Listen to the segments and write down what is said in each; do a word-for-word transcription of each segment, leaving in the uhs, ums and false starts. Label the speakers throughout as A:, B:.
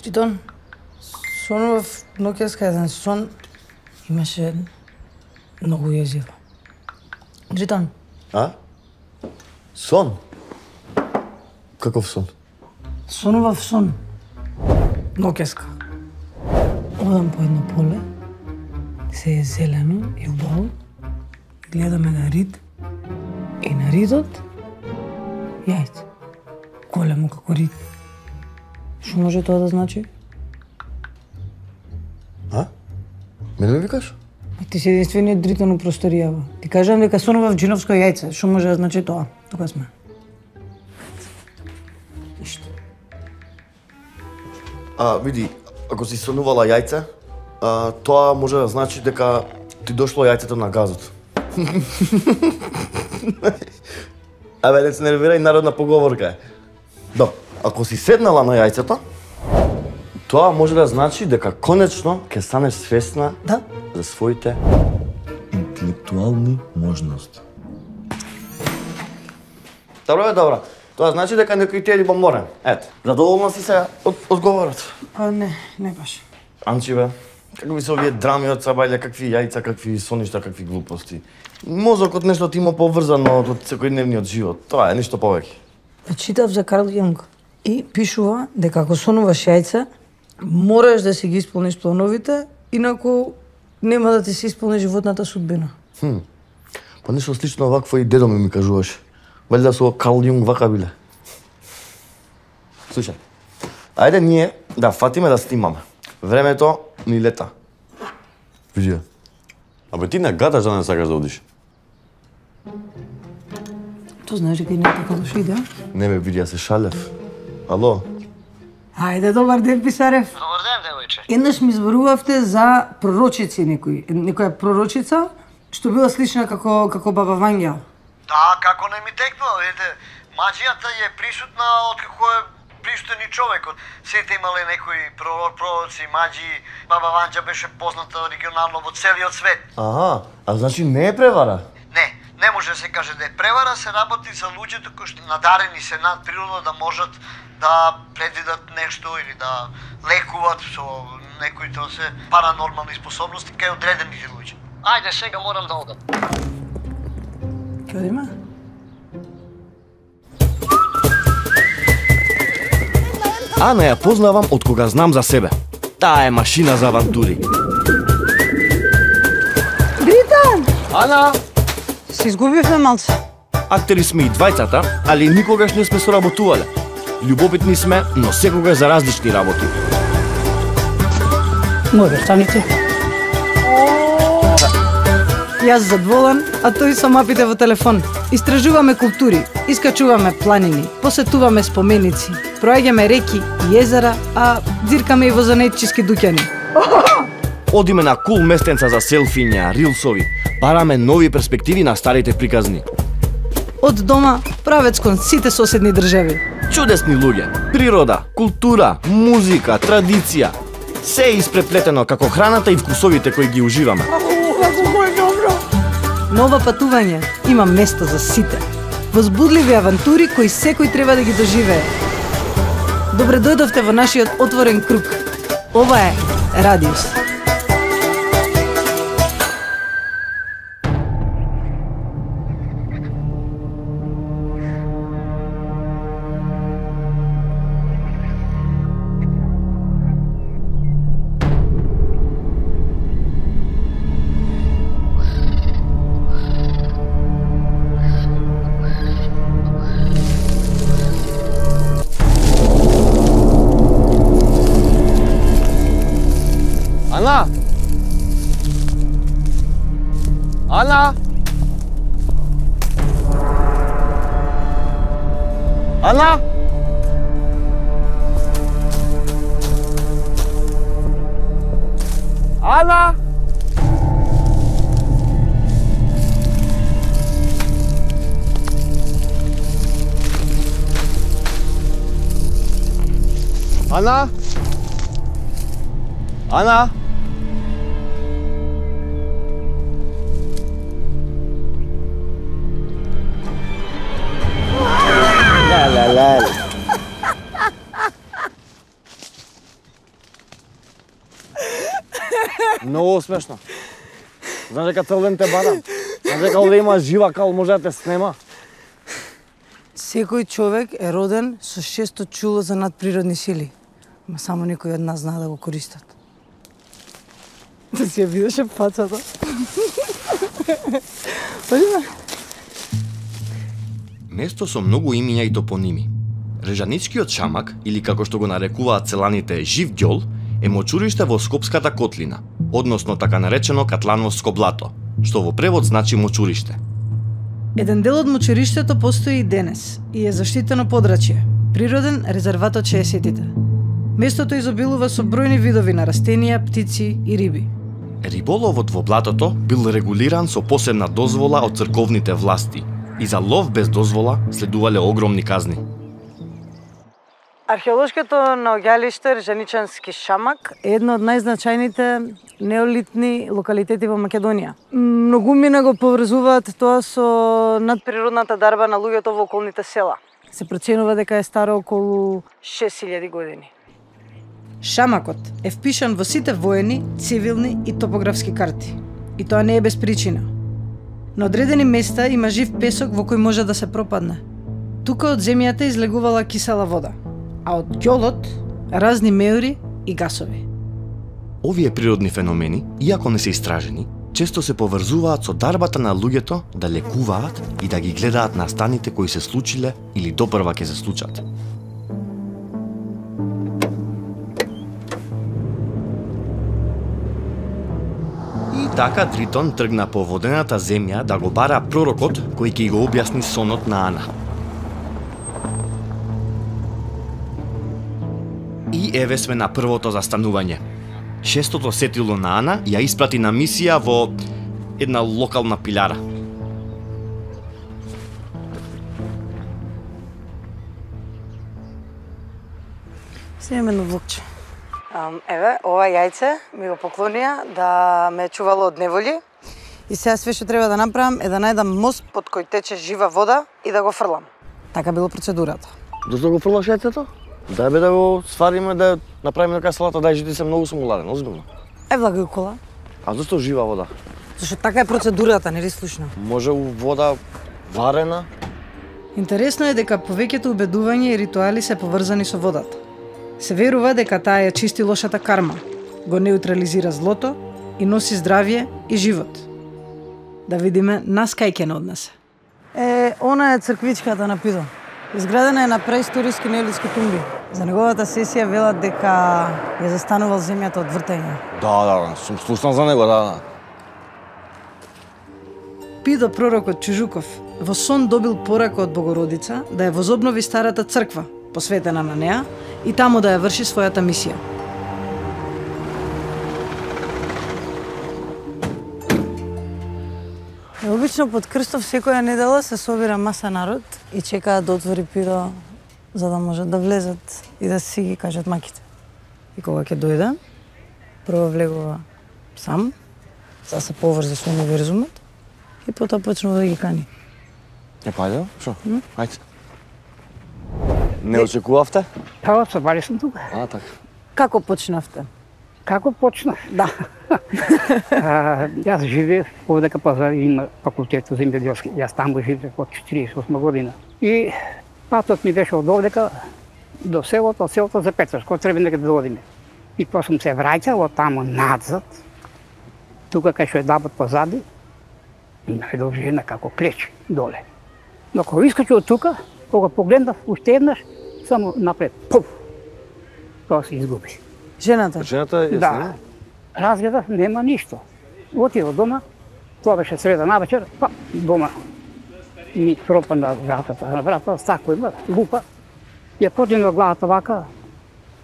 A: Тритон, сонував ноќеска еден сон, имаше многу језиво. Тритон.
B: А? Сон? Каков сон?
A: Сонував сон. Ноќеска. Одам по едно поле, се е зелено и убаво, гледаме на рид и на ридот јајце. Големо како рид. Што може тоа да значи?
B: А? Мене ме викаш?
A: Ти си единствениот Дритон у просторијава. Ти кажам дека сонував джиновско јајце. Што може да значи тоа? Тука сме. Ништо.
B: А, види, ако си сонувала јајце, а, тоа може да значи дека ти дошло јајцето на газот. Абе, не се нервирај, народна поговорка е. Да, ако си седнала на јајцето, тоа може да значи дека конечно ќе станеш свесна
A: Да?
B: за своите интелектуални можности. Добро е, добро. Тоа значи дека некој ти е љубоморен. Ето, задоволна си се од одговорот.
A: А, не, не баш.
B: Анчи бе, какви се овие драми од сабајле, какви јајца, какви соништа, какви глупости. Мозокот нешто ти има поврзано од секојдневниот живот. Тоа е ништо повеќе.
A: Читав за Карл Јунг и пишува дека ако сонуваш јајце, мораш да си ги исполниш плановите, инаку нема да ти се исполни животната судбина.
B: Хм. Па нешто слично вакво и дедо ми ми кажуваше. Валјда со Карл Јунг вака биле. Слушај, ајде ние да фатиме да снимаме. Времето ни лета. Види. Абе ти не гадаш да не сакаш да одиш.
A: То знаеш дека и не е така лоша идеја?
B: Не бе, види, ја се шалев. Ало?
A: Ајде, добар ден, Писарев.
C: Добар ден, девојче.
A: Еднаш ми зборувавте за пророчици некој, некоја пророчица што била слична како како баба Вања.
C: Да, како не ми текнува, видите, маџијата е присутна откако е присутен и човекот. Сите имале некои пророци, маџи, баба Ванџа беше позната регионално во целиот свет.
B: Аха, а значи не е превара?
C: Не, не може да се каже да е превара, се работи за луѓето кои што надарени се надприродно да можат да предвидат нешто или да лекуват со некои тоа се паранормални способности кај одредените луѓе. Ајде, сега морам да одам.
A: Каде има?
B: Ана ја познавам од кога знам за себе. Таа е машина за авантури.
A: Дритон!
B: Ана!
A: Се изгубивме малце.
B: Актери сме и двајцата, али никогаш не сме соработувале. Љубопитни сме, но секогаш за различни работи.
A: Може, станите. Јас задволен, а тој со мапите во телефон. Истражуваме култури, искачуваме планини, посетуваме споменици, проаѓаме реки и езера, а дзиркаме и во занетчиски дуќани.
B: Одиме на кул местенца за селфиња, рилсови, бараме нови перспективи на старите приказни.
A: Од дома, правец кон сите соседни држави.
B: Чудесни луѓе, природа, култура, музика, традиција. Се е испреплетено како храната и вкусовите кои ги уживаме.
A: Нова патување, има место за сите. Возбудливи авантури кои секој треба да ги доживее. Добре дојдовте во нашиот отворен круг. Ова е Радиус.
B: Ана! Ана! Ана! Ана! Ана! Ана! Многу смешно. Знаеш дека цел ден те барам. Знаеш дека овде има жива кал, може да те снема.
A: Секој човек е роден со шесто чуло за надприродни сили. Ма само некој од нас знае да го користат. Да си ја видеше пацата.
D: Место со многу имиња и топоними. Режаничкиот шамак, или како што го нарекуваат селаните жив ѓол, е мочуриште во Скопската котлина, односно така наречено Катлановско блато, што во превод значи мочуриште.
A: Еден дел од мочуриштето постои и денес и е заштитено подрачје, природен резерват од шеесеттите. Местото изобилува со бројни видови на растенија, птици и риби.
D: Риболовот во блатото бил регулиран со посебна дозвола од црковните власти и за лов без дозвола следувале огромни казни.
A: Археолошкото наоѓалиште Режаничански шамак е едно од најзначајните неолитни локалитети во Македонија. Многумина го поврзуваат тоа со надприродната дарба на луѓето во околните села. Се проценува дека е старо околу шест илјади години. Шамакот е впишан во сите воени, цивилни и топографски карти. И тоа не е без причина. На одредени места има жив песок во кој може да се пропадне. Тука од земјата излегувала кисела вода, а од ѓолот разни меури и гасови.
D: Овие природни феномени, иако не се истражени, често се поврзуваат со дарбата на луѓето да лекуваат и да ги гледаат настаните кои се случиле или допрва ќе се случат. И така Тритон тргна по водената земја да го бара пророкот кој ќе го објасни сонот на Ана. И еве сме на првото застанување. Шестото сетило на Ана ја испрати на мисија во една локална пилара.
A: Се имаме едно влокче. Еве, ова јајце ми го поклонија да ме чувало од неволи. И сега све што треба да направам е да најдам мост под кој тече жива вода и да го фрлам. Така било процедурата.
B: Дошто го фрлаш јајцето? Дај бе да го свариме, да направиме нека салата, дај жити се многу сум уладен, озбилно.
A: Е, влагај кола.
B: А зашто жива вода?
A: Зашто така е процедурата, нели слушна?
B: Може у вода варена?
A: Интересно е дека повеќето убедувања и ритуали се поврзани со водата. Се верува дека таа ја чисти лошата карма, го неутрализира злото и носи здравје и живот. Да видиме нас кај ќе не однесе. Е, она е црквичката на Пидо. Изградена е на преисториски неолитски тумби. За неговата сесија велат дека ја застанувал земјата од вртење.
B: Да, да, сум слушнал за него, да, да.
A: Пидо пророкот Чужуков во сон добил порака од Богородица да ја возобнови старата црква, посветена на неа, и таму да ја врши својата мисија. Обично под крстов секоја недела се собира маса народ и чекаат да отвори Пидо за да можат да влезат и да си ги кажат маките. И кога ќе дојде, прво влегува сам, за да се поврзе со универзумот и потоа почнува да ги кани.
B: Е, пајде, шо? Ајде. Не очекувавте?
E: Па, собари сум тука.
B: А, така.
A: Како почнавте?
E: Како почнав? Да. а, јас живеев овде кај Пазар, има факултетот земјоделски. Јас таму живеев од четиридесет и осма година. И патот ми беше од овдека до селото, од селото за Петраш, кој треба некаде да одиме. И тоа сум се враќал од таму надзад, тука кај што е дабот позади, има едно жена како клеч доле. Но кога искачи од тука, кога погледнав уште еднаш, само напред, пуф, тоа се изгуби.
A: Жената?
B: Жената е
E: Да.
B: снима?
E: Разгледав, нема ништо. Отидов дома, тоа беше среда на вечер, па дома ми пропана вратата на вратата, сако има, лупа. Ја подигнав главата вака,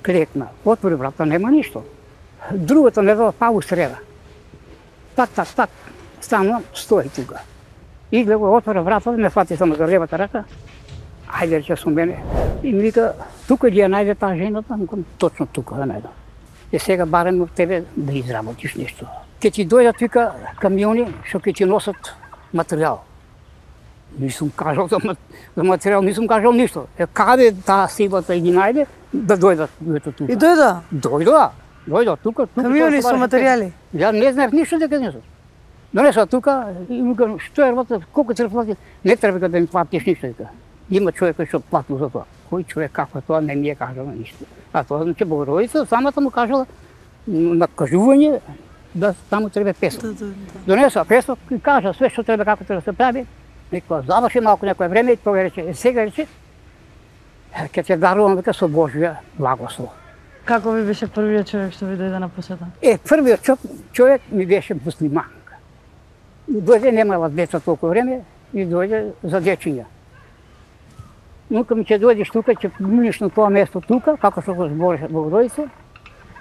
E: клекна. Отвори врата, нема ништо. Другата недела па у среда. Так, так, так, станувам, стои тука. И гледа, отвори врата, ме фати само за левата рака. Ајде рече со мене. И ми вика, тука ли ја најде таа жената? Викам, точно тука ја најдам. И сега барем од тебе да изработиш нешто. Ке ти дојдат, вика, камиони што ќе ти носат материјал. Нисум кажал за, за материјал, нисум кажал ништо. Е, каде таа силата ги најде, да дојдат луѓето тука.
A: И дојда?
E: Дојда. Дојдов тука, тука.
A: Камиони со материјали.
E: Ја не знаев ништо дека не сум. Донесла тука и му кажам, што е работа, колку ќе плати? Не треба да ми платиш ништо дека. Има човек кој што плати за тоа. Кој човек како тоа не ми е кажал ништо. А тоа значи Богородица самата му кажала на кажување да таму треба песо. Донесла песо и кажа све што треба како треба да се прави. Некоја заврши малку некое време и тоа рече, е сега рече, ќе те дарувам дека со Божја благослов.
A: Како ви беше првиот човек што ви дојде на посета?
E: Е, првиот човек ми беше муслиманка. Дојде, немала деца толку време и дојде за дечиња. Нука ми ќе дојдеш тука, ќе минеш на тоа место тука, како што го збореше Богородица,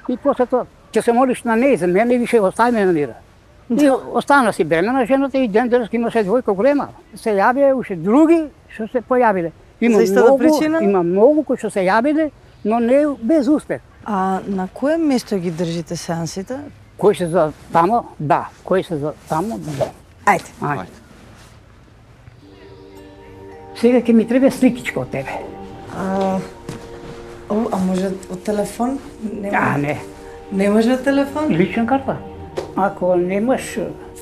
E: и после тоа ќе се молиш на неј за мене и више остави ме на мира. И остана си бремена жената и ден денес имаше двојка голема. Се јавија уште други што се појавиле. Има многу, причина? Има многу кои што се јавиле, но не без успех.
A: А на кое место ги држите сеансите?
E: Кои се за тамо? Да. Кои се за тамо? Да.
A: Ајде.
E: Ајде. Сега ќе ми треба сликичка од тебе.
A: А, о, а може од телефон? Не,
E: А, не.
A: Не може од телефон?
E: Лична карта. Ако немаш,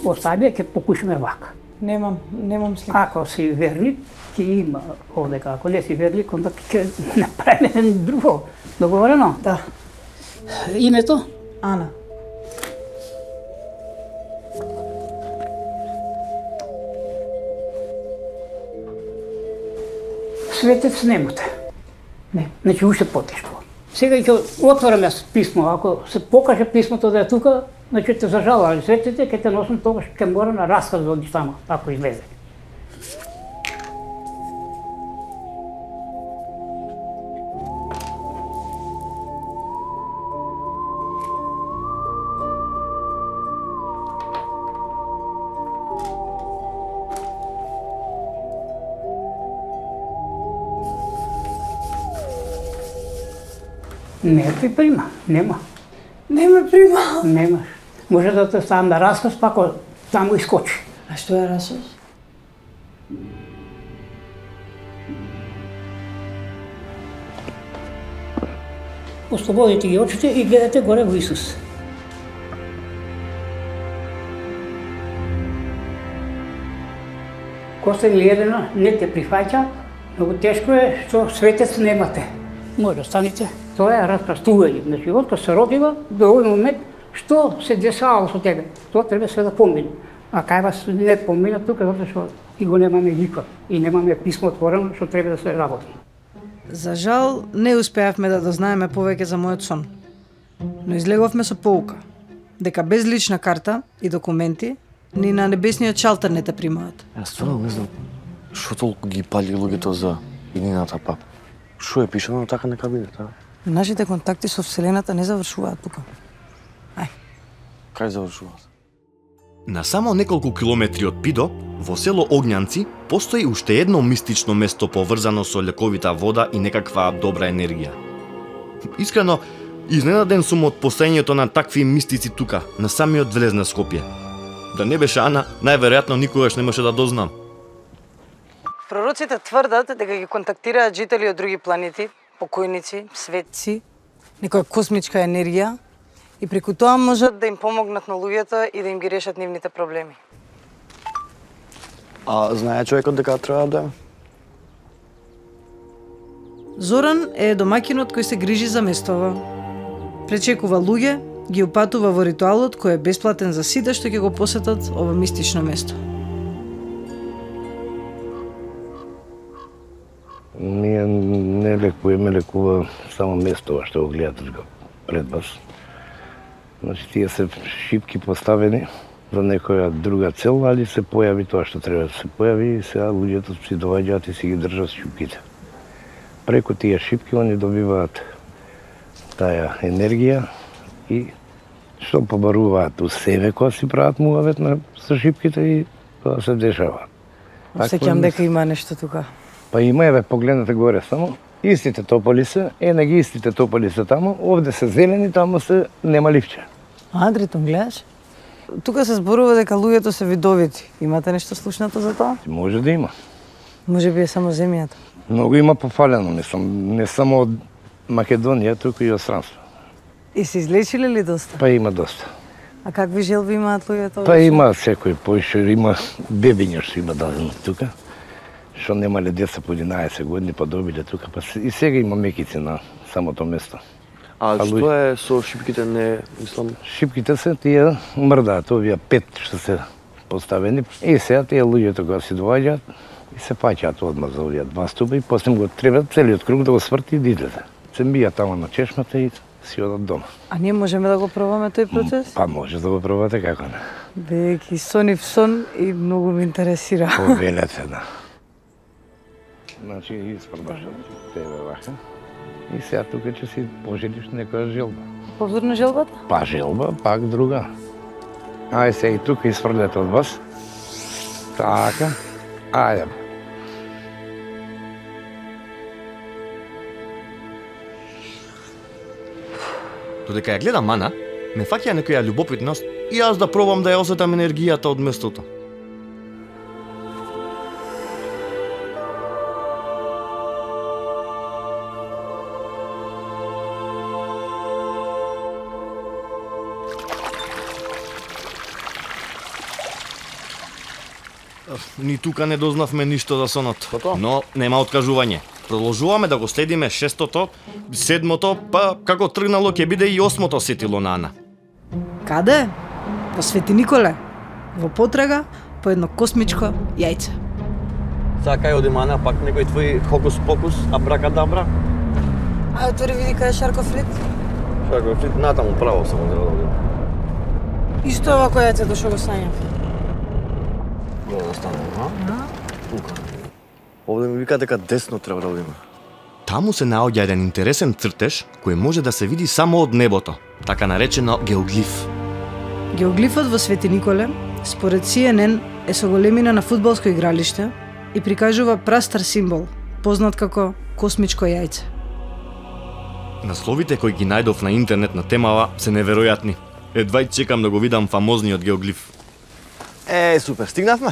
E: остави, ќе покушаме вака.
A: Немам, немам слика.
E: Ако си верник, ќе има овдека. Ако не си верник, онда ќе направиме друго. Договорено?
A: Да.
E: Името?
A: Ана.
E: Светец Немота. Не, значи уште потешко. Сега ќе отвораме писмо, ако се покаже писмото да е тука, значи те зажалали светите, ќе те носам тогаш, ќе мора на расказ да одиш тамо, ако излезе. Не ти прима, нема.
A: Не ме прима.
E: Немаш. Може да те ставам на расказ, па ако таму искочи.
A: А што е расос?
E: Ослободите ги очите и гледате горе во Исус. Коста Елена не те прифаќа, многу тешко е што светец немате. Може да станете. Тоа е распрастување. Значи, откако се родила, до овој момент, што се десавало со тебе, тоа треба све да помине. А кај вас не помина тука, затоа што и го немаме никој. И немаме писмо отворено, што треба да се работи.
A: За жал, не успеавме да дознаеме повеќе за мојот сон. Но излеговме со поука, дека без лична карта и документи, ни на небесниот шалтер не те примаат.
B: Јас стварно не знам што толку ги пали луѓето за иднината пап. Што е пишано така нека биде, така?
A: Нашите контакти со Вселената не завршуваат тука. Ај.
B: Кај завршуваат?
D: На само неколку километри од Пидо, во село Огњанци, постои уште едно мистично место поврзано со лековита вода и некаква добра енергија. Искрено, изненаден сум од постоењето на такви мистици тука, на самиот влез на Скопје. Да не беше Ана, најверојатно никогаш немаше да дознам.
A: Пророците тврдат дека ги контактираат жители од други планети, покојници, светци, некоја космичка енергија и преку тоа можат да им помогнат на луѓето и да им ги решат нивните проблеми.
B: А знае човекот дека треба да?
A: Зоран е домаќинот кој се грижи за местова. Пречекува луѓе, ги упатува во ритуалот кој е бесплатен за сите што ќе го посетат ова мистично место.
F: Ние не лекуваме, лекува само местова што го гледате пред вас. Значи, тие се шипки поставени за некоја друга цел, али се појави тоа што треба да се појави и сега луѓето си доаѓаат и си ги држат шипките. Преку тие шипки они добиваат таа енергија и што побаруваат у себе кога си прават муавет на со шипките и тоа се дешава.
A: Осеќам дека има нешто тука.
F: Па има, еве, погледнете горе само. Истите тополи се, е, на ги истите тополи се тамо, овде се зелени, тамо се нема ливче.
A: Андрето, гледаш? Тука се зборува дека луѓето се видовити. Имате нешто слушнато за тоа?
F: Може да има.
A: Може би е само земјата.
F: Многу има пофалено, не, сам, не само од Македонија, туку и од странство.
A: И се излечили ли доста?
F: Па има доста.
A: А какви желби имаат луѓето?
F: Па има секој поише, има бебиња што има дадено тука, што немале деца по единаесет години, па добиле тука, па и сега има мекици на самото место.
B: А што е со шипките, не мислам?
F: Шипките се тие мрдаат, овие пет што се поставени. И сега тие луѓето кога се доаѓаат и се паќаат одма за овие два стуба и после го треба целиот круг да го сврти и да излезе. Се мија тамо на чешмата и си одат дома.
A: А ние можеме да го пробаме тој процес?
F: Па може да го пробате, како не.
A: Бејќи сонив сон и многу ме интересира.
F: Повелете, да. Значи, испрдаш тебе вака. И сега тука ќе си пожелиш некоја желба.
A: Повторно желбата?
F: Па желба, пак друга. Ај се и тука испрлете од вас. Така. Ајде.
D: Додека ја гледам Ана, ме фаќа некоја љубопитност и јас да пробам да ја осетам енергијата од местото. Ни тука не дознавме ништо за сонот. Но нема откажување. Продолжуваме да го следиме шестото, седмото, па како тргнало ќе биде и осмото сетило на Ана.
A: Каде? Во Свети Николе. Во потрага по едно космичко јајце.
B: Сакај одиме Ана, пак некој твој хокус-покус, абракадабра?
A: Ај отвори види кај е Шарков рид.
B: Шарков рид, натаму право само да одиме.
A: И што е овако јајцето што го сањам?
B: Добро да станеме, а? Тука. Овде ми вика дека десно треба да одиме.
D: Таму се наоѓа еден интересен цртеж кој може да се види само од небото, така наречено геоглиф.
A: Геоглифот во Свети Николе, според Си Ен Ен, е со големина на фудбалско игралиште и прикажува прастар символ, познат како космичко јајце.
D: Насловите кои ги најдов на интернет на темава се неверојатни. Едва и чекам да го видам фамозниот геоглиф.
B: Е, супер, стигнавме?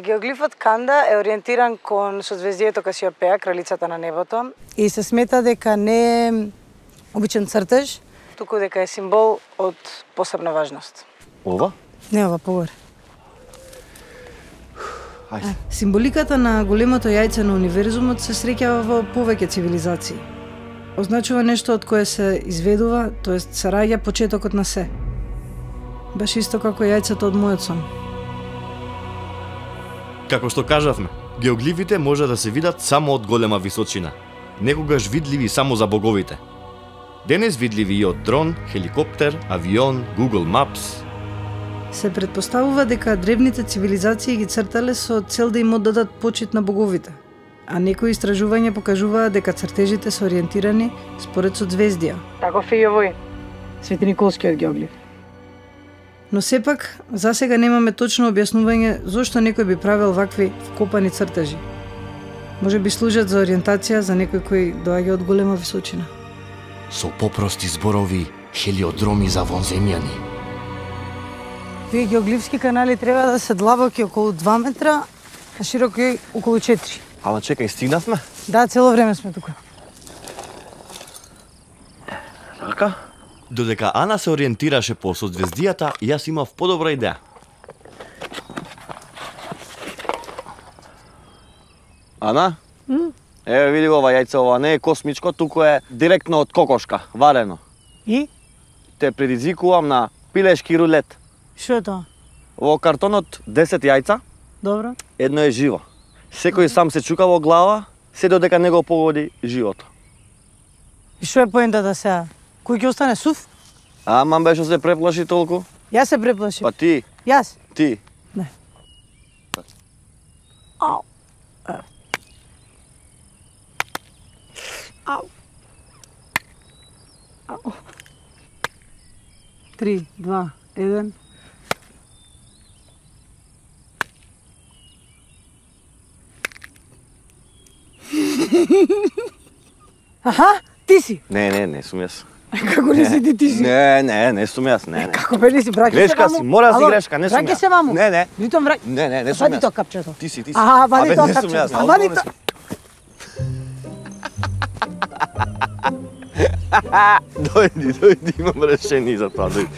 A: Геоглифот Канда е ориентиран кон созвездието Касиопеја, кралицата на небото, и се смета дека не е обичен цртеж, туку дека е символ од посебна важност.
B: Ова?
A: Не, ова погоре.
B: Ајде.
A: Символиката на големото јајце на универзумот се среќава во повеќе цивилизации. Означува нешто од кое се изведува, тоест се раѓа почетокот на се. Баш исто како јајцето од мојот сон.
D: Како што кажавме, геоглифите може да се видат само од голема височина, некогаш видливи само за боговите. Денес видливи и од дрон, хеликоптер, авион, Google Maps.
A: Се предпоставува дека древните цивилизации ги цртале со цел да им оддадат почит на боговите, а некои истражувања покажуваат дека цртежите се ориентирани според созвездија. Таков е и овој Свети Николскиот геоглиф. Но сепак, засега немаме точно објаснување зошто некој би правил вакви вкопани цртежи. Може би служат за ориентација за некој кој доаѓа од голема височина.
D: Со попрости зборови, хелиодроми за вонземјани.
A: Тие геоглифски канали треба да се длабоки околу два метра, а широки околу четири.
B: Ама чекај, стигнавме?
A: Да, цело време сме тука.
B: Така?
D: Додека Ана се ориентираше по созвездијата, јас имав подобра идеја.
B: Ана?
A: М?
B: Еве види ова јајце, ова не е космичко, туку е директно од кокошка, варено.
A: И?
B: Те предизвикувам на пилешки рулет.
A: Што е тоа?
B: Во картонот десет јајца,
A: Добро.
B: едно е живо. Секој сам се чука во глава, се додека не го погоди живото.
A: И што е поентата сега? Кој ќе остане сув?
B: Ама беше се преплаши толку?
A: Јас се преплашив.
B: Па ти,
A: Јас?
B: ти.
A: Не. Ау. Е. Ау. Ау. Три, два, еден. Аха, ти си.
B: Не, не, не сум јас.
A: Како не си ти, ти си?
B: Не, не, не сум јас, не, не.
A: Како бе не си, браќи се
B: Грешка
A: маму?
B: си, мора да си
A: Ало,
B: грешка, не сум
A: браќи
B: јас.
A: се маму.
B: Не, не.
A: Витом враќи.
B: Не, не, не сум
A: Вади
B: јас.
A: тоа капчето.
B: Ти си, ти си.
A: Аха, вади
B: Абе,
A: тоа
B: не сум
A: капчето.
B: јас,
A: А вади
B: не сум.
A: тоа.
B: Дојди, дојди, имам решение за тоа, дојди.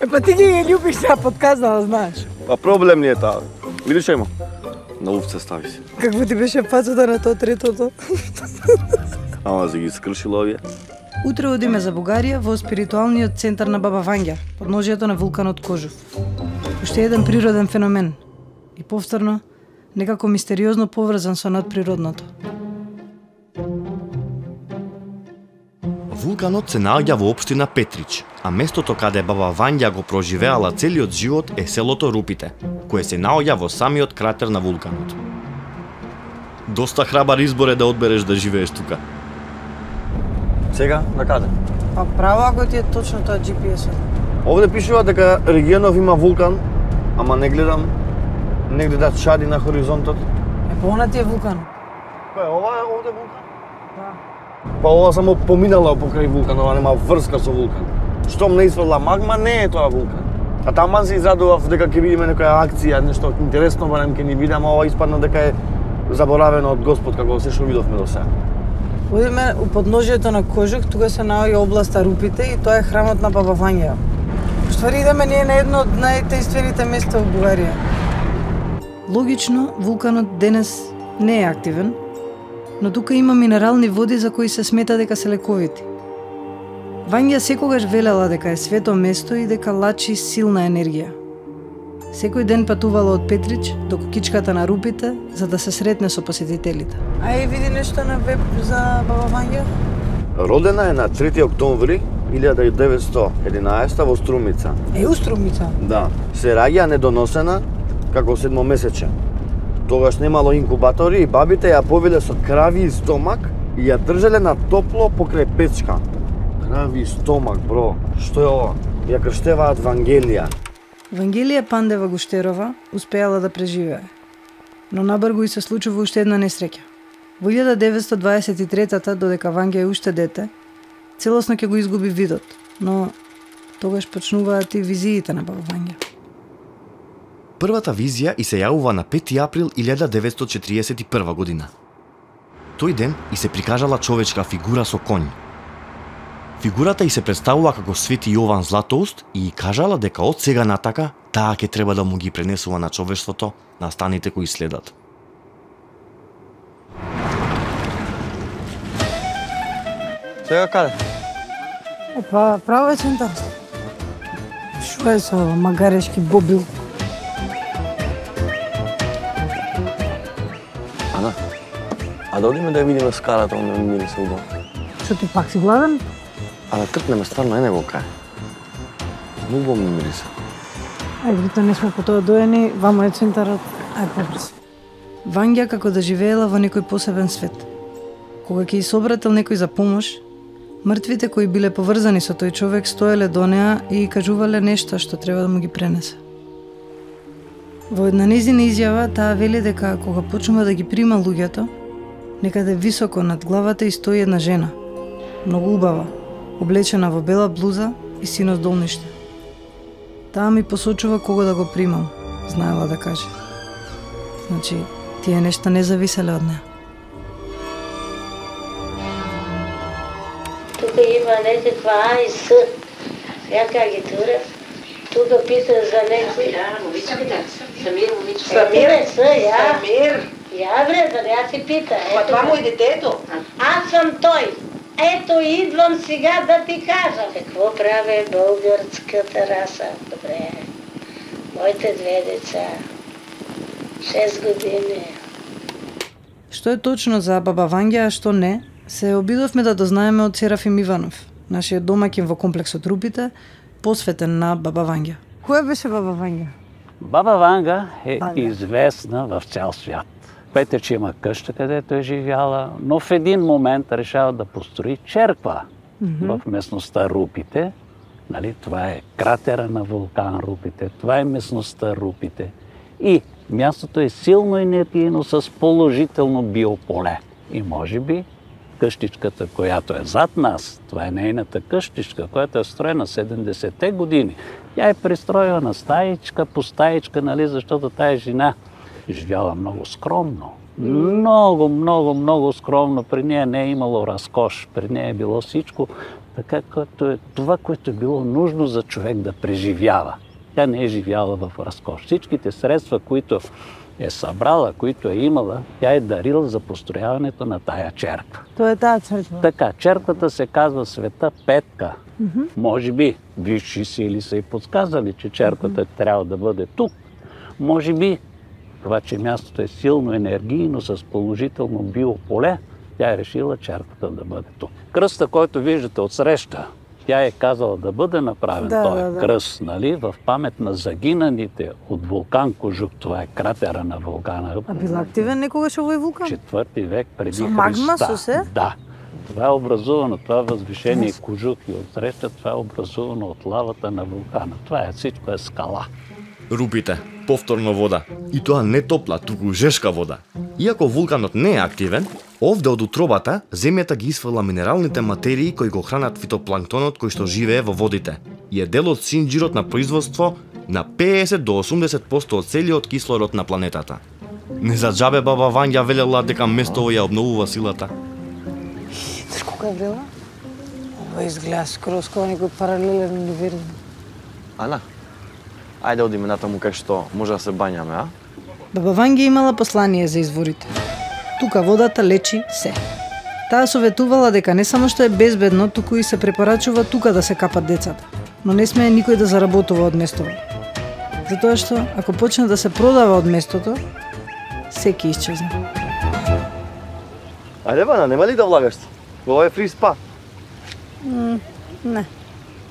A: Е, па ти ги љубиш сега подказала, знаеш.
B: Па проблем не е таа. Видиш што има? На овце стави се.
A: Какво ти беше пацата на тоа третото?
B: Ама се ги скршила овие.
A: Утре одиме за Бугарија во спиритуалниот центар на Баба Вања, подножието на вулканот Кожув. Уште еден природен феномен. И повторно, некако мистериозно поврзан со надприродното.
D: Вулканот се наоѓа во општина Петрич, а местото каде Баба Вања го проживеала целиот живот е селото Рупите, кое се наоѓа во самиот кратер на вулканот. Доста храбар избор е да одбереш да живееш тука.
B: Сега, на каде?
A: Па право ако ти е точно тоа џи пи ес-от.
B: Овде пишува дека регионов има вулкан, ама не гледам негде да чади на хоризонтот.
A: Е, па она ти е вулкан.
B: Кој е ова е овде вулкан?
A: Да.
B: Па ова само поминала покрај вулкан, ова нема врска со вулкан. Штом не изфрла магма, не е тоа вулкан. А таман се израдував дека ќе видиме некоја акција, нешто интересно, барем ќе ни биде, ама ова испадна дека е заборавено од Господ како се што видовме до сега.
A: Одиме у подножието на Кожух, тука се наоѓа областа Рупите и тоа е храмот на Баба Вања. Ствари идеме ние на едно од најтајствените места во Бугарија. Логично, вулканот денес не е активен, но тука има минерални води за кои се смета дека се лековити. Вања секогаш велела дека е свето место и дека лачи силна енергија. Секој ден патувала од Петрич до кукичката на Рупите за да се сретне со посетителите. Ај види нешто на веб за Баба Вања?
B: Родена е на трети октомври илјада деветстотини и единаесета во Струмица.
A: Е, у Струмица?
B: Да. Се раѓа недоносена како седмомесече. Тогаш немало инкубатори и бабите ја повеле со крави и стомак и ја држеле на топло покрај печка. Крави и стомак, бро. Што е ова? Ја крштеваат Вангелија.
A: Вангелија Пандева Гуштерова успеала да преживее. Но набргу и се случува уште една несреќа. Во илјада деветстотини дваесет и трета додека Вања е уште дете, целосно ќе го изгуби видот, но тогаш почнуваат и визиите на Баба Вања.
D: Првата визија и се јавува на пети април илјада деветстотини четириесет и прва година. Тој ден и се прикажала човечка фигура со конј. Фигурата и се представува како Свети Јован Златоуст и кажала дека од сега натака таа ќе треба да му ги пренесува на човештвото настаните кои следат.
B: Сега каде?
A: Е, па право е центар. Шо е со магарешки бобил?
B: Ана, а да одиме да ја видиме скалата, онde ми мирише убаво.
A: Што ти пак си гладен?
B: А да тркнеме стварно ене го кај. Многу ми мирише.
A: Ајде, бито не сме по тоа доени, вамо е центарот, ајде побрз. Вања како да живеела во некој посебен свет. Кога ќе ѝ се обратил некој за помош, мртвите кои биле поврзани со тој човек стоеле до неа и кажувале нешто што треба да му ги пренесе. Во една нејзина изјава таа вели дека кога почнува да ги прима луѓето, некаде високо над главата и стои една жена, многу убава, облечена во бела блуза и сино долниште. Таа ми посочува кого да го примам, знаела да каже. Значи, тие нешта не зависеле од неа.
G: Тука има некаква А и С. Јака ги тура. Тука пита за некој.
H: Да, момичката. Самир, момичката.
G: Самир? С, ја.
H: Самир.
G: Ја бре, да ја си пита.
H: Па това му е детето.
G: Аз сум тој. Ето идвам сега да ти кажам. Какво прави българската раса? Добре. Моите две деца. Шест години.
A: Што е точно за Баба Вања, а што не, се обидовме да дознаеме од Серафим Иванов, нашиот домаќин во комплексот Рупите, посветен на Баба Вања. Која беше Баба Вања?
I: Баба Ванга е
A: Ванга.
I: известна в цял свят. Петрич има къща, където е живяла, но в един момент решава да построи черква mm-hmm. в местността Рупите. Нали, това е кратера на вулкан Рупите, това е местността Рупите. И мястото е силно енергийно с положително биополе. И може би къщичката, която е зад нас, това е нейната къщичка, която е строена седемдесетте години. Тя е пристроена стаичка по стаичка, нали, защото тая жена живяла много скромно. Много, много, много скромно. При нея не е имало разкош. При нея е било всичко така, като е това, което е било нужно за човек да преживява. Тя не е живяла в разкош. Всичките средства, които е събрала, които е имала, тя е дарила за построяването на тая черква.
A: Тоа е таа црква.
I: Така, черквата се казва Света Петка. Mm-hmm. Може би висши сили са и подсказали, че черквата mm-hmm. трябва да бъде тук. Може би това, че мястото е силно енергийно с положително биополе, тя е решила черквата да бъде тук. Кръста, който виждате отсреща, тя е казала да бъде направен
A: да,
I: този
A: да, да.
I: кръст, нали, в памет на загинаните от вулкан Кожук. Това е кратера на вулкана.
A: А бил активен некогаш овој вулкан?
I: Четвърти век преди
A: Со
I: Христа.
A: магма, со се?
I: Да. Това е образувано, това възвишение Кожук и отсреща, това е образувано от лавата на вулкана. Това е всичко е скала.
D: Рупите, повторно вода. И тоа не топла, туку жешка вода. Иако вулканот не е активен, овде од утробата земјата ги исфрла минералните материи кои го хранат фитопланктонот кој што живее во водите и е дел од синџирот на производство на педесет до осумдесет проценти од целиот кислород на планетата. Не за џабе баба Вања велела дека местово ја обновува силата.
A: Знаеш колко е врела? Ова изгледа скроз како некој паралелен универзум.
B: Ана, ајде одиме натаму кај што може да се бањаме, а?
A: Баба Вања имала послание за изворите. Тука водата лечи се. Таа советувала дека не само што е безбедно, туку и се препорачува тука да се капат децата. Но не смее никој да заработува од местото. Затоа што, ако почне да се продава од местото, секи исчезне.
B: Ајде, Вана, нема ли да влагаш? Ова е фри спа.
A: Mm, не.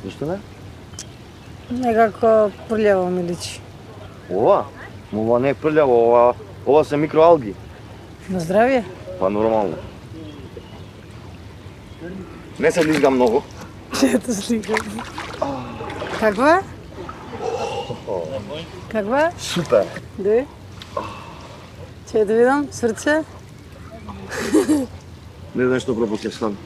B: Зашто не?
A: Некако прљаво ми личи.
B: Ова? Ова не е прљаво, ова, ова се микроалги.
A: На здравје?
B: Па нормално. Не се лизга многу.
A: Ето слика. Каква? Каква?
B: Супер.
A: Де? Че да видам, срце?
B: Не знам што пропуснеш стан.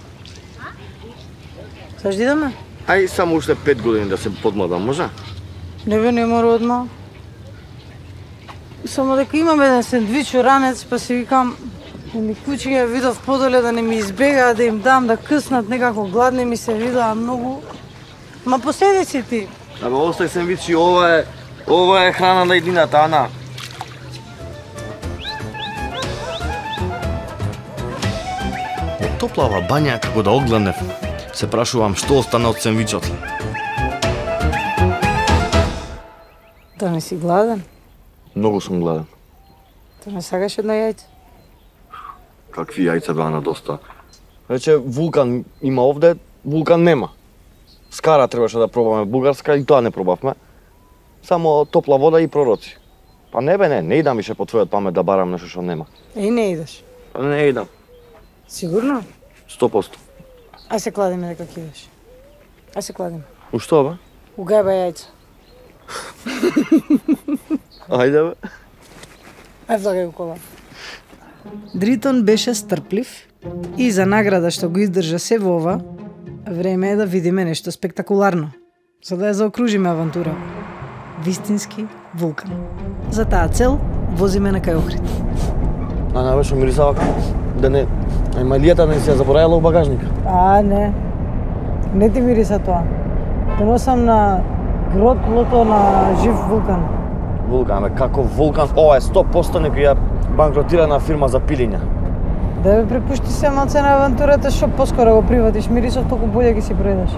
A: Саш идеме?
B: Ај само уште пет години да се подмладам, може?
A: Не бе, не мора одма. Само дека имам еден сендвич ранец, па си викам, да ми кучиња видов подоле да не ми избегаа, да им дам да къснат, некако гладни ми се видаа многу. Ма поседи си ти.
B: Абе, остај сендвичи, ова е, ова е храна на едината, Ана.
D: Од топлава бања како да огледнев, се прашувам што остана од сендвичот.
A: Да не си гладен?
B: Многу сум гладен.
A: Да не сакаш една јајце?
B: Какви јајца беа на доста. Рече, вулкан има овде, вулкан нема. Скара требаше да пробаме бугарска и тоа не пробавме. Само топла вода и пророци. Па не бе, не, не идам више по твојот памет да барам нешто што нема.
A: Еј, не идеш.
B: Па не идам.
A: Сигурно?
B: сто проценти.
A: Ај се кладиме дека ќе идеш. Ај се кладиме.
B: У што бе?
A: У гајба јајца.
B: Ајде бе.
A: Ај влагај го кола. Дритон беше стрплив и за награда што го издржа се во ова, време е да видиме нешто спектакуларно, за да ја заокружиме авантура. Вистински вулкан. За таа цел возиме на кај Охрид.
B: Ана, бе, шо мирисава како? Да не, емалијата не се ја заборајала у багажника.
A: А, не. Не ти мириса тоа. Доносам на гротлото на жив вулкан.
B: Вулкан, бе, како вулкан? Ова е сто проценти некоја банкротирана фирма за пилење.
A: Да бе, препушти се малце на авантурата, што поскоро го приватиш мирисов, толку болje ги си проедеш.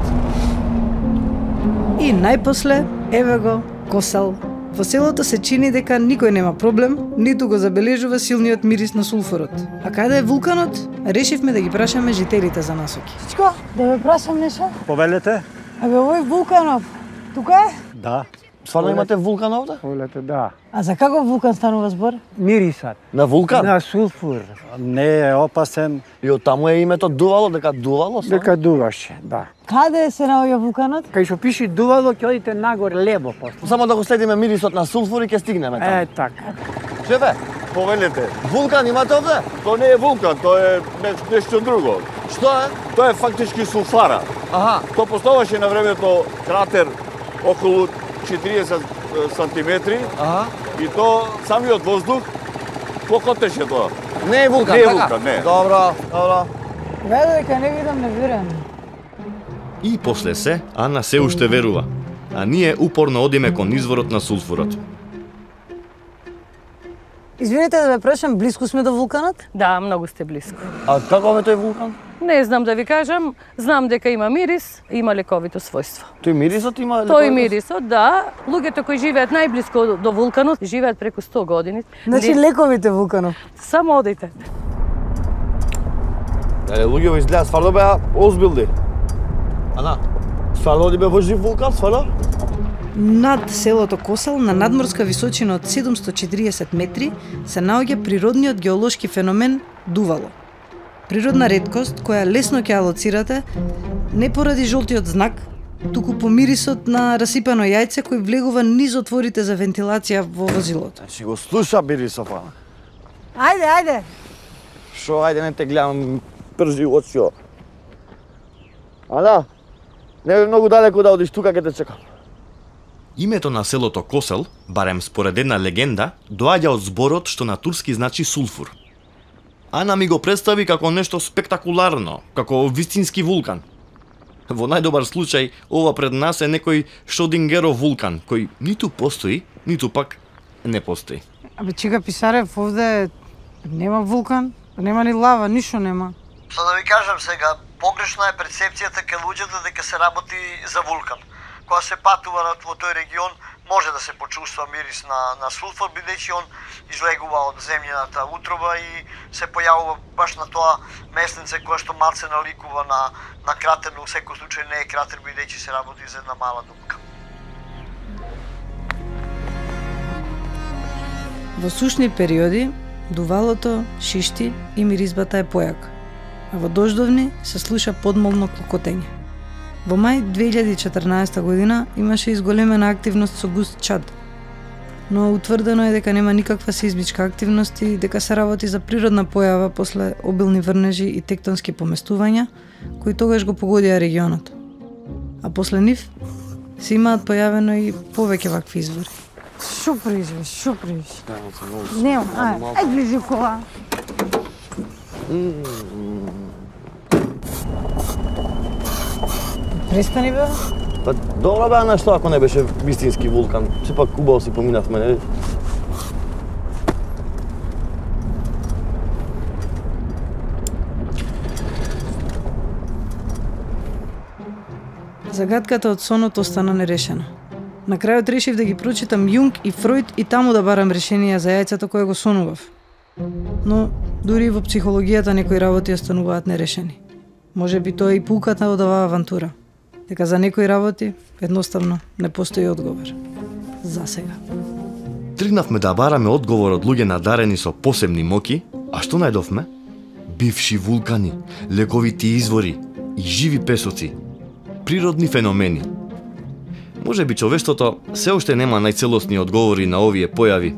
A: И најпосле, еве го, Косел. Во селото се чини дека никој нема проблем, ниту го забележува силниот мирис на сулфурот. А каде е вулканот? Решивме да ги прашаме жителите за насоки. Чичко, да ве прашам нешто?
J: Повелете?
A: Абе, овој вулканот, тука е?
J: Да.
B: Стварно имате вулкан овде?
J: Повелете, да.
A: А за каков вулкан станува збор?
J: Мирисат.
B: На вулкан?
J: На сулфур. Не е опасен.
B: И оттаму е името дувало, дека дувало? Са?
J: Дека дуваше, да.
A: Каде се наоѓа вулканот?
J: Кај што пише дувало, ќе одите нагоре лево после.
B: Само да го следиме мирисот на сулфур и ќе стигнеме таму.
J: Е, така.
B: Шефе, повелете, вулкан имате овде?
K: Тоа не е вулкан, тоа е неш- нешто друго.
B: Што е?
K: Тоа е фактички сулфара.
B: Аха.
K: Тоа постоеше на времето кратер околу четириесет сантиметри
B: Аха.
K: и тоа самиот воздух покотеше тоа.
B: Не е вулкан,
K: Не е
B: така?
K: вулкан, не.
B: Добро, добро.
A: Веќе дека не видам, не верувам.
D: И после се, Ана се уште верува, а ние упорно одиме кон изворот на сулфурот.
A: Извинете да ве прашам, близко сме до вулканот?
L: Да, многу сте близко.
B: А каков е тој вулкан?
L: Не знам да ви кажам, знам дека има мирис, има лековито својство.
B: Тој мирисот има
L: Тој мирисот, да. Луѓето кои живеат најблиско до, до вулканот, живеат преку сто години.
A: Значи
L: Ли-
A: лековите вулканов.
L: Само одите.
B: Еле, луѓето изгледа стварно беа озбилни. Ана, стварно оди бе во жив вулкан, стварно?
A: Над селото Косел, на надморска височина од седумсто четириесет метри, се наоѓа природниот геолошки феномен дувало. Природна реткост која лесно ќе алоцирате не поради жолтиот знак, туку по мирисот на расипано јајце кој влегува низ отворите за вентилација во возилото.
B: Значи го слуша мирисов, Ана.
A: Ајде, ајде.
B: Шо, ајде, не те гледам пржи очио. Ана, не бе многу далеко да одиш, тука ќе те чекам.
D: Името на селото Косел, барем според една легенда, доаѓа од зборот што на турски значи сулфур. Ана ми го представи како нешто спектакуларно, како вистински вулкан. Во најдобар случај, ова пред нас е некој Шродингеров вулкан, кој ниту постои, ниту пак не постои.
A: Абе, чека Писарев, овде нема вулкан, нема ни лава, ништо нема.
C: Што да ви кажам сега, погрешна е перцепцијата кај луѓето дека се работи за вулкан. Кога се патува во тој регион, може да се почувства мирис на, на сулфур, бидејќи он излегува од земјината утроба и се појавува баш на тоа местенце кое што малце наликува на, на кратер, но во секој случај не е кратер, бидејќи се работи за една мала дупка.
A: Во сушни периоди, дувалото шишти и миризбата е појака, а во дождовни се слуша подмолно клокотење. Во мај две илјади и четрнаесета година имаше изголемена активност со густ чад, но утврдено е дека нема никаква сеизмичка активност и дека се работи за природна појава после обилни врнежи и тектонски поместувања, кои тогаш го погодија регионот. А после нив се имаат појавено и повеќе вакви извори. Шо прижи, шо прижи? Нема, ај, ај ближи кола. Престани бе.
B: Па добро бе, Ана, што ако не беше вистински вулкан? Сепак убаво си поминавме, нели?
A: Загадката од сонот остана нерешена. На крајот решив да ги прочитам Јунг и Фројд и таму да барам решенија за јајцето кое го сонував. Но дури и во психологијата некои работи остануваат нерешени. Може би тоа е и пулката од оваа авантура. Дека за некои работи едноставно не постои одговор. За сега.
D: Тргнавме да бараме одговор од луѓе надарени со посебни моки, а што најдовме? Бивши вулкани, лековити извори и живи песоци. Природни феномени. Може би човештвото се уште нема најцелосни одговори на овие појави,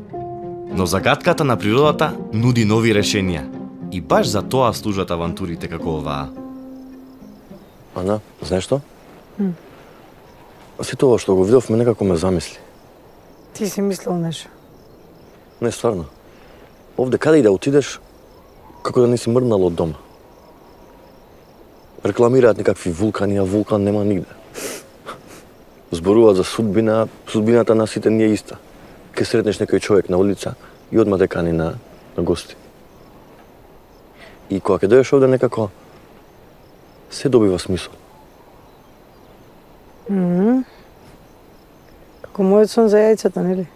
D: но загадката на природата нуди нови решенија. И баш за тоа служат авантурите како оваа.
B: Ана, знаеш што? Mm. Сето ова што го видовме некако ме замисли.
A: Ти си мислил нешто?
B: Не, стварно. Овде каде и да отидеш, како да не си мрднал од дома. Рекламираат некакви вулкани, а вулкан нема нигде. Зборуваат за судбина, судбината на сите не е иста. Ке сретнеш некој човек на улица и одма те кани на, на гости. И кога ќе дојдеш овде некако, се добива смисол.
A: Mm -hmm. Како мојот сон за јајцата, нели?